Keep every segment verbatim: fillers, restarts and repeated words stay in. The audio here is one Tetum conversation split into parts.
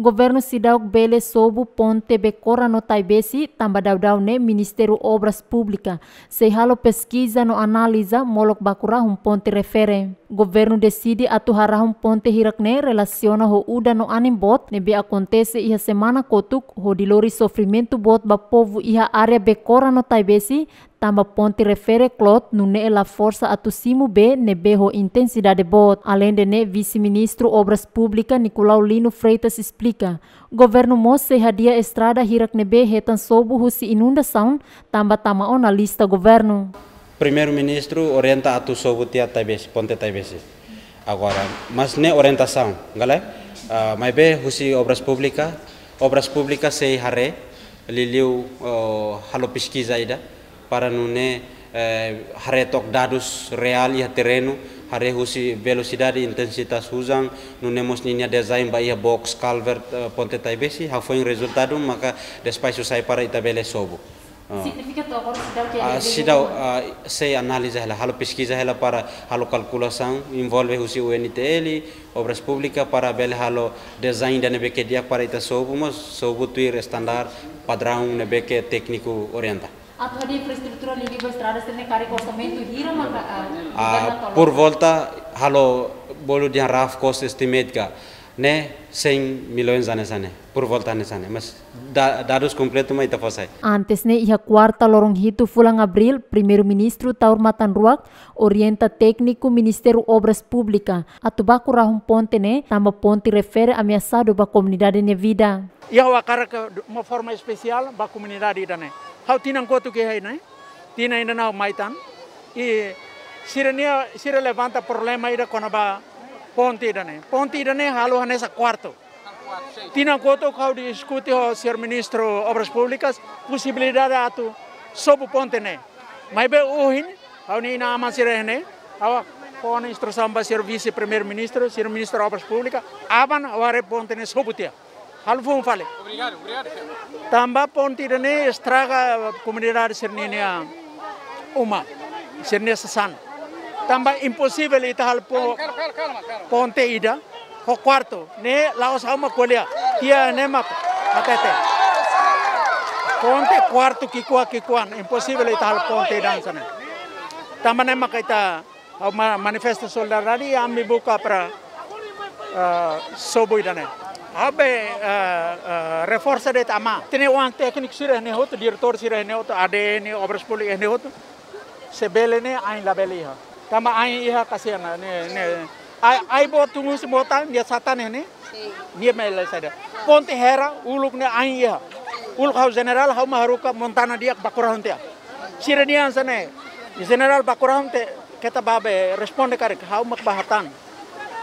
Governu seidauk bele sobu ponte Bekora no Taibesi, tanba daudaun ne'e Ministériu Obras Públikas sei halo peskiza no analiza molok baku rahun ponte refere. Governu deside atu harahun ponte hirak ne'e relasiona ho udan no anin boot ne'ebé akontese iha semana kotuk, hodi lori sofrimentu boot ba povu iha área Bekora no Taibesi, tanba ponte refere kloot nune'e la forsa atu simu bee ne'ebé ho intensidade boot. Aleinde ne'e, Vise-Ministru Obras Públikas Nicolau Lino Freitas esplika, governu mós sei hadi'a estrada hirak ne'ebé hetan sobu husi inundasaun, tanba tama ona lista governu. Primeiru-Ministru orienta atu sobu tiha Taibesi, ponte Taibesi. Agora, mas ne'e orientasaun, gale? Ah, maibé husi Obras Públikas, Obras Públikas sei haree, liuliu, oh, halo peskiza ida, para nune'e, eh, haree took dadus reál iha terrenu, haree husi velosidade, intensitas hujan, nune'e mós ninia design ba iha box culvert, eh, ponte Taibesi, hafoin rezultadu maka despaxu sai para ita bele sobu. Ah. Signifika took agora seidauk ke Ah, bele seidauk, bele ah, sei analiza hela, halo peskiza hela para halo kalkulasaun, envolve husi U N T L, Obras Públikas para bele halo design ida ne'ebé ke di'ak para ita sobu, mas sobu tuir standar padraun ne'ebé ke tékniku orienta. Atu hadi'a infraestrutura liuliu ba estrada sira-ne'e karik orsamentu hira maka, ah, Ah, governu tolong? Por volta halo bolu dehan rough cost estimate ka, ne'e cem milhões hanesan ne'e, por volta hanesan ne'e, mas da-, dadus kompletu mak ita fó sai. Antes ne'e, iha kuarta loron hitu fulan Abríl, Primeiru-Ministru Taur Matan Ruak orienta tékniku Ministériu Obras Públikas atu baku rahun ponte ne'e, tanba ponte refere ameasadu ba komunidade nia vida. Iha ha'u hakarak de uma forma espesiál ba komunidade ida-ne'e. Ha'u tinan kotuk iha ne'e, tinan ida-ne'e ha'u mai tan. I sira-nia, sira levanta problema ida kona-ba ponte ida-ne'e. Ponte ida-ne'e halo hanesan kuartu. Tinan kotuk ha'u diskute ho señór Ministru Obras Públikas, posibilidade atu sobu ponte ne'e. Maibé ohin, ha'u-nia inan-aman sira iha ne'e, ha'u fó ona instrusaun ba señór Vise-Primeiru-Ministru, señór Ministru Obras Públikas, aban ha'u haree ponte ne'e sobu tiha. Halo foun fali. Tanba ponte ida-ne'e estraga komunidade sira-nia uma, sira-nia sasán. Tanba imposivel ita halo po-, ponte ida ho kuartu, ne'e la'ós ha'u mak ko'alia, tiha ne'e mak hatete. Ponte kuartu ki'ikoan-ki'ikoan, imposivel ita halo ponte ida hanesan ne'e. Tanba ne'e maka ita ha'u ma-, manifesta solidariedade i ami buka para, eh, sobu ida-ne'e. Ha'u be, eh, eh, reforsa de'it ama. Tenke oan tékniku sira iha ne'e hotu, diretór sira iha ne'e hotu, A D N, Obras Públikas iha ne'e hotu. Se bele ne'e ain labele iha. Tanba ain iha kasihan ne'e, ne'e. Ai, ai-boot tun husi mota, nia satan iha ne'e. Nia mele saida. Ponte hera, uluk ne'e ain iha. Uluk ha'u jenerál, ha'u mak haruka montana di'ak baku rahun tiha. Sira dehan hanesan ne'e. Jenerál baku rahun tiha, keta bá be responde karik, ha'u mak bá hatán.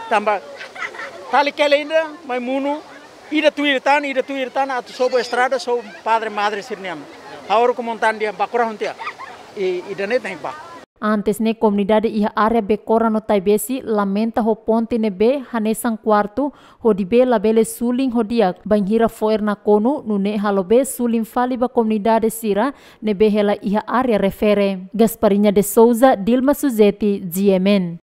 Tanba tali kele ida, mai monu, ida tuir tan, ida tuir tan, atu sobu estrada, sobu padre madre sira-nian. Ha'u haruka montana di'ak baku rahun tiha. I, ida-ne'e tenke bá. Antes ne'e, komunidade iha área Bekora no Taibesi lamenta ho ponte ne'ebé hanesan kuartu, hodi bee labele sulin ho di'ak, bainhira fo'er nakonu, nune'e halo bee sulin fali ba komunidade sira ne'ebé hela iha área refere. Gasparinha de Souza, Dilma Suzeti, G M N.